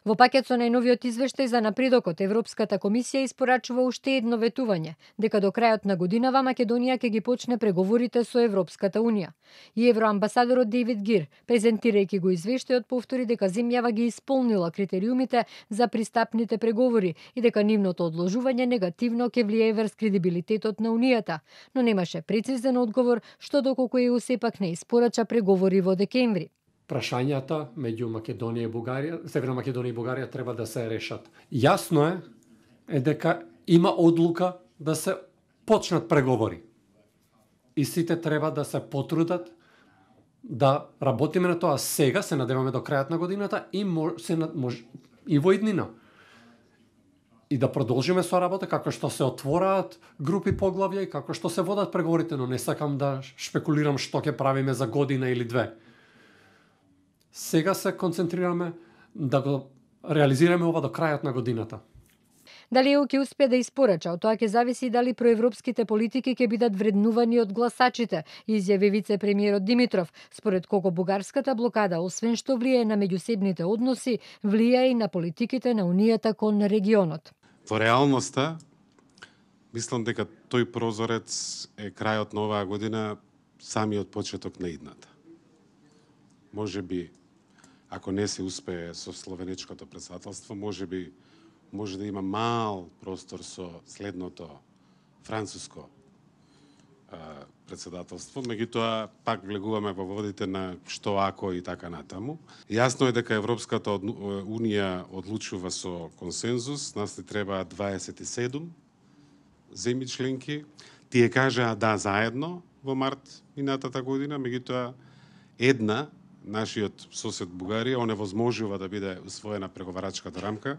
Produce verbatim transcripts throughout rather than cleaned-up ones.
Во пакет со најновиот извештај за напредокот, Европската комисија испорачува уште едно ветување, дека до крајот на годинава Македонија ќе ги почне преговорите со Европската унија. И евроамбасадорот Дейвид Гир, презентирајќи го извештајот, повтори дека земјава ги исполнила критериумите за пристапните преговори и дека нивното одложување негативно ќе влијае врз кредибилитетот на Унијата, но немаше прецизен одговор што доколку ЕУ сепак не испорача преговори во декември. Прашањата меѓу Македонија и Бугарија, Северна Македонија и Бугарија треба да се решат. Јасно е, е дека има одлука да се почнат преговори. И сите треба да се потрудат да работиме на тоа сега, се надеваме до крајот на годината и се мож, и во иднина. И да продолжиме со работа како што се отвораат групи поглавја и како што се водат преговорите, но не сакам да шпекулирам што ќе правиме за година или две. Сега се концентрираме да го реализираме ова до крајот на годината. Дали ЕУ ќе успее да испорача, од тоа ќе зависи и дали проевропските политики ќе бидат вреднувани од гласачите, изјави вице-премиерот Димитров, според кого бугарската блокада, освен што влијае на меѓусебните односи, влијае и на политиките на Унијата кон регионот. Во реалноста, мислам дека тој прозорец е крајот на оваа година, самиот почеток на идната. Може би, ако не се успее со словенечкото претседателство, може би може да има мал простор со следното француско а, претседателство, меѓутоа пак влегуваме во водите на што ако и така натаму. Јасно е дека Европската унија одлучува со консензус, нас ни треба дваесет и седум земји членки. Тие кажаа да заедно во март минатата година, меѓутоа една, нашиот сосед Бугарија, оневозможува да биде усвоена преговарачката рамка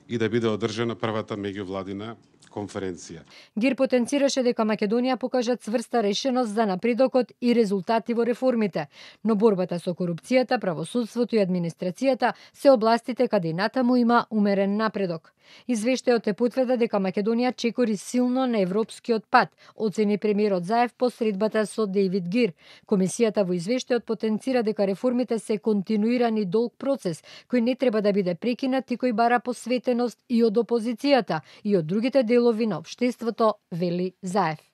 и да биде одржана првата меѓувладина конференција. Гир потенцираше дека Македонија покажа цврста решеност за напредокот и резултати во реформите, но борбата со корупцијата, правосудството и администрацијата се областите каде и натаму има умерен напредок. Извештајот е потврда дека Македонија чекори силно на европскиот пат, оцени премиерот Заев по средбата со Дейвид Гир. Комисијата во извештајот потенцира дека реформите се континуиран и долг процес, кој не треба да биде прекинат и кој бара посветеност и од опозицијата и од другите делови на општеството, вели Заев.